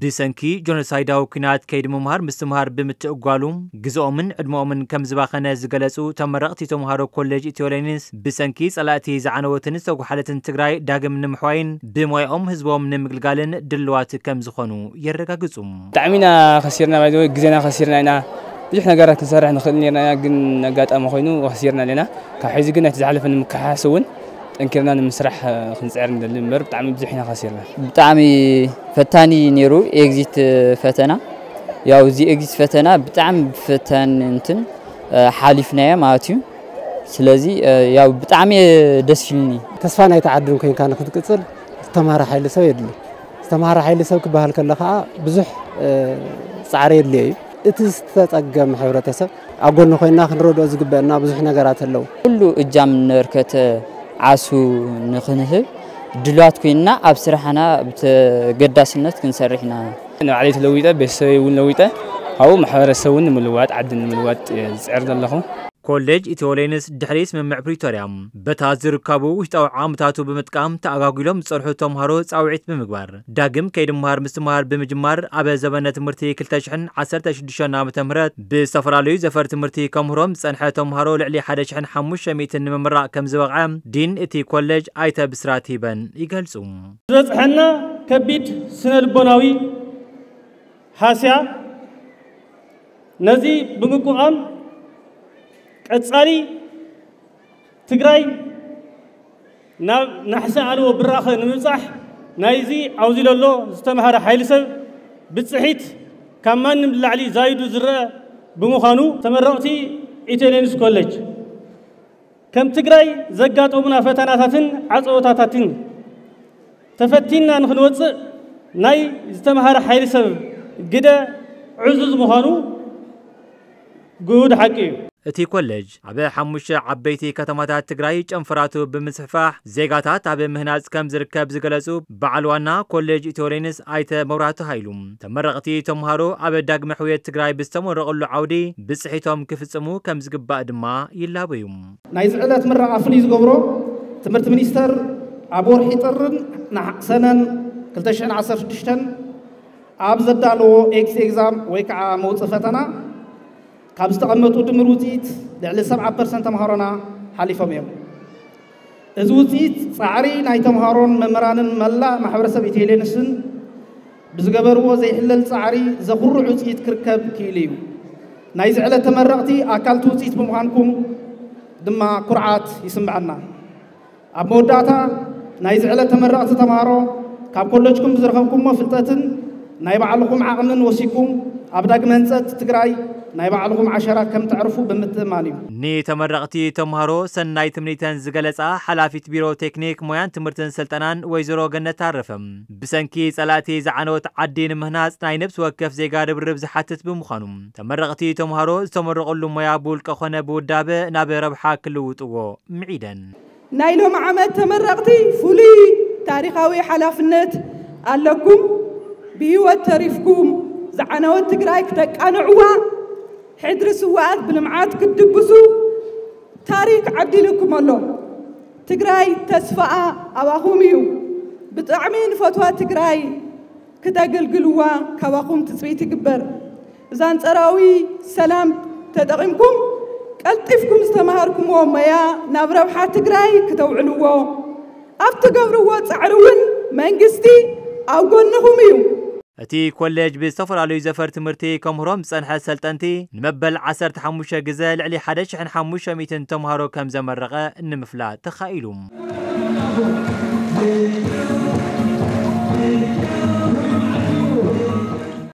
ብሰንኪ ጆኖሳይዳዊ ኲናት ከይዲ ምምሃር ምስትምሃር ብምትእጓሉ ግዝኦምን ዕድመኦምን ከም ዝባኸነ ዝገለጹ ተመረቕቲ ተምሃሮ ኮሌጅ ኢትዮ ሌኒንስ፣ ብሰንኪ ጸላእቲ ዝዓነወትን ዝተጓሓለትን ትግራይ ዳግም ንምሕዋይን ብሞያኦም ህዝቦም ንምግልጋልን ድልዋት ከም ዝኾኑ የረጋግጹ። ብጣዕሚ ኢና ከሲርና፣ ባይ ዘ ወይ ግዜና ከሲርና ኢና። ብዙሕ ነገራት ክንሰርሕ ንኽእል ነርና ኢና፣ ግን ኣጋጣሚ ኮይኑ ከሲርና ኣለና። ካብ ሕዚ ግን ነቲ ዝሓለፈ ንምክሕሓስ እውን ጠንኪርና ንምስራሕ ክንፅዕር ንደሊ እምበር ብጣዕሚ ብዙሕ ኢና ከሲርና። ብጣዕሚ ፈታኒ ነይሩ ኤግዚት ፈተና። ያው እዚ ኤግዚት ፈተና ብጣዕሚ ፈታኒ እንትን ሓሊፍናዮ ማለት እዩ። ስለዚ ያው ብጣዕሚ ደስ ኢሉኒ። ተስፋ ናይቲ ዓድን ኮይንካ ንክትቅፅል ዝተምሃረ ሓይሊ ሰብ የድሊ። ዝተምሃረ ሓይሊ ሰብ ክበሃል ከሎ ከዓ ብዙሕ ፃዕሪ የድልዮ እዩ። እቲ ዝተፀገም ሕብረተሰብ ኣብ ጎኒ ኮይንና ክንረድኦ ዝግበአና ብዙሕ ነገራት ኣለዉ። ኩሉ እጃም ነበርከተ ዓሱ ንክንህብ ድልዋት ኮይንና ኣብ ስራሕና ብተገዳስነት ክንሰርሕ ኢና። ንባዕለይ ተለዊጠ፣ ቤተሰበይ እውን ለዊጠ፣ ካብኡ ማሕበረሰብ እውን ንምልዋጥ፣ ዓዲ ንምልዋጥ እየ ዝፅዕር ዘለኹ። ኮሌጅ ኢትዮ ሌንስ ድሕሪ ስምምዕ ፕሪቶርያ በታ ዝርከቡ ውሽጣዊ ዓምታቱ ብምጥቃም ተኣጓጒሎም ዝጸንሑ ተምሃሮ ጻውዒት ብምግባር ዳግም ከይዲ ምምሃር ምስትምሃር ብምጅማር ኣብ ዘበነ ትምህርቲ ክልተ ሽሕን ዓሰርተ ሽዱሽተን ዓመተ ምህረት ብዝተፈላለዩ ዘፈር ትምህርቲ ከምህሮም ዝጸንሐ ተምሃሮ ልዕሊ ሓደ ሽሕን ሓሙሽተ ሚእትን ንምምራቕ ከም ዝበቕዐ ዲን እቲ ኮሌጅ ኣይተ ብስራት ሂበን ይገልጹ። ዝበጽሐና ከቢድ ስነ ልቦናዊ ሃስያ ነዚ ብምቁቓም ቀጻሊ ትግራይ ናብ ናሕሲ ኣልቦ ብራኸ ንምብጻሕ ናይዚ ኣብዚ ዘሎ ዝተምሃረ ሓይሊ ሰብ ብጽሒት ካብ ማንም ንላዕሊ ዛይዱ ዝረአ ብምዃኑ ተመረቕቲ ኢትዮ ሌንስ ኮሌጅ ከም ትግራይ ዘጋጠሙና ፈተናታትን ዓፀቦታታትን ተፈቲንና ንክንወፅእ ናይ ዝተምሃረ ሓይሊ ሰብ ግደ ዕዙዝ ምዃኑ ግሁድ ሓቂ እዩ። እቲ ኮሌጅ ኣብ ሓሙሽተ ዓበይቲ ከተማታት ትግራይ ጨንፈራቱ ብምስፍፋሕ ዜጋታት ኣብ ምህናፅ ከም ዝርከብ ዝገለፁ በዓል ዋና ኮሌጅ ኢትዮ ሌንስ ኣይተ መብራህቱ ሃይሉ፣ ተመረቕቲ ተምሃሮ ኣብ ዳግመ ሕውየት ትግራይ ብዝተመረቑሉ ዓውዲ ብፅሒቶም ክፍፅሙ ከም ዝግባእ ድማ ይላበዩ። ናይዚ ዕለት ምረቓ ፍሉይ ዝገብሮ ትምህርቲ ሚኒስተር ኣብ ወርሒ ጥርን ነሓ- ሰነን ክልተ ሽሕን ዓሰርተ ሽዱሽተን ኣብ ዘዳለዎ ኤክስ ኤግዛም ወይ ከዓ መውፅኢ ፈተና ካብ ዝተቐመጡ ድምር ውፅኢት ልዕሊ ሰብዓ ፐርሰንት ተምሃሮና ሓሊፎም እዮም። እዚ ውፅኢት ፃዕሪ ናይ ተምሃሮን መምህራንን መላእ ማሕበረሰብ ኢትዮ ሌንስን ብዝገበርዎ ዘይሕለል ፃዕሪ ዘኹርዕ ውፅኢት ክርከብ ክኢሉ እዩ። ናይዚ ዕለት ተመረቕቲ ኣካልቲ ውፅኢት ብምዃንኩም ድማ ኩርዓት ይስምዐና። ኣብ መወዳእታ ናይዚ ዕለት ተመረቕቲ ተምሃሮ ካብ ኮለጅኩም ብዝረኸብኩሞ ፍልጠትን ናይ ባዕልኹም ዓቕምን ወሲኩም ኣብ ዳግመ ህንፀት ትግራይ ናይ ባዕልኹም ዓሸራ ከም ተዕርፉ ብምትእማን እዩ። ንተመረቕቲ ተምሃሮ ሰናይ ትምኒተን ዝገለፃ ሓላፊት ቢሮ ቴክኒክ ሞያን ትምህርትን ስልጠናን ወይዘሮ ገነት ኣረፈ ብሰንኪ ጸላእቲ ዝዓነወት ዓዲ ንምህናጽ ናይ ነብሲ ወከፍ ዜጋ ርብርብ ዝሓትት ብምዃኑ ተመረቕቲ ተምሃሮ ዝተመረቑሉ ሞያ ብውልቀ ኾነ ብውዳበ ናብ ረብሓ ክልውጥዎ ምዒደን። ናይ ሎም ዓመት ተመረቕቲ ፍሉይ ታሪኻዊ ሓላፍነት ኣለኩም። ብህይወት ተሪፍኩም ዝዓነወት ትግራይ ክተቃንዕዋ፣ ሕድሪ ስውኣት ብልምዓት ክትድግሱ ታሪክ ዓዲልኩም ኣሎ። ትግራይ ተስፋኣ ኣባኹም እዩ። ብጣዕሚ ንፈትዋ ትግራይ ክተገልግልዋ ካባኹም ትፅቢት ይግበር። እዛ ኣንፃራዊ ሰላም ተጠቒምኩም ቀልጢፍኩም ዝተምሃርኩምዎ ሞያ ናብ ረብሓ ትግራይ ክተውዕልዎ ኣብ ትገብርዎ ፃዕሪ እውን መንግስቲ ኣብ ጎንኹም እዩ። እቲ ኮሌጅ ብዝተፈላለዩ ዘፈር ትምህርቲ ከምህሮም ዝፀንሐ ሰልጠንቲ ንመበል ዓሰርተ ሓሙሽተ ግዘ ልዕሊ ሓደ ሽሕን ሓሙሽተ ሚእትን ተምሃሮ ከም ዘመረቐ ንምፍላጥ ተኻኢሉ።